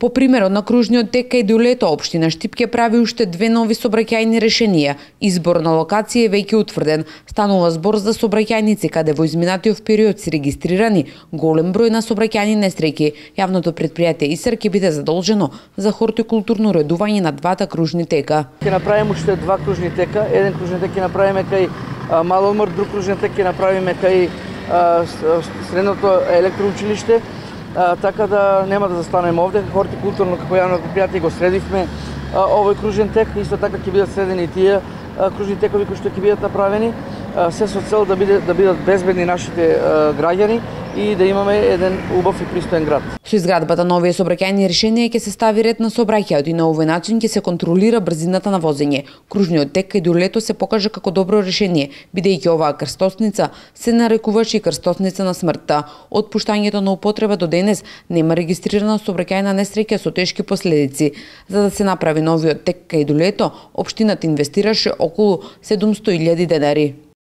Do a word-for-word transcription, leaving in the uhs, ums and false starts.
По примерот на кружниот тек кај Дулето, општина Штипке прави уште две нови сообраќајни решенија. Избор на локација е веќе утврден. Станува збор за сообраќајници каде во изминатиот период се регистрирани голем број на сообраќајни несреќи. Јавното претпријатие ИСР ќе биде задолжено за хортикултурно уредување на двата кружни тека. Ќе направиме уште два кружни тека. Еден кружни тек ќе направиме кај Маломор, друг кружен тек ќе направиме кај средното електроучилиште. А, така да нема да застанеме овде. Хортикултурно како јавно предпријатие го средивме а, овој кружен тек, исто така ќе бидат средени и тие а, кружни текови кои што ќе бидат направени, а, се со цел да биде да бидат безбедни нашите а, граѓани и да имаме еден убав и пристоен град. Со изградбата на овие сообраќајни решенија ќе се стави ред на сообраќајот и на овој начин ќе се контролира брзината на возење. Кружниот тек кај Дулето се покажа како добро решение, бидејќи оваа крстосница се нарекуваше и крстосница на смртта. Од пуштањето на употреба до денес нема регистрирана сообраќајна несреќа со тешки последици. За да се направи новиот тек кај Дулето, општината инвестираше околу седумсто илјади денари.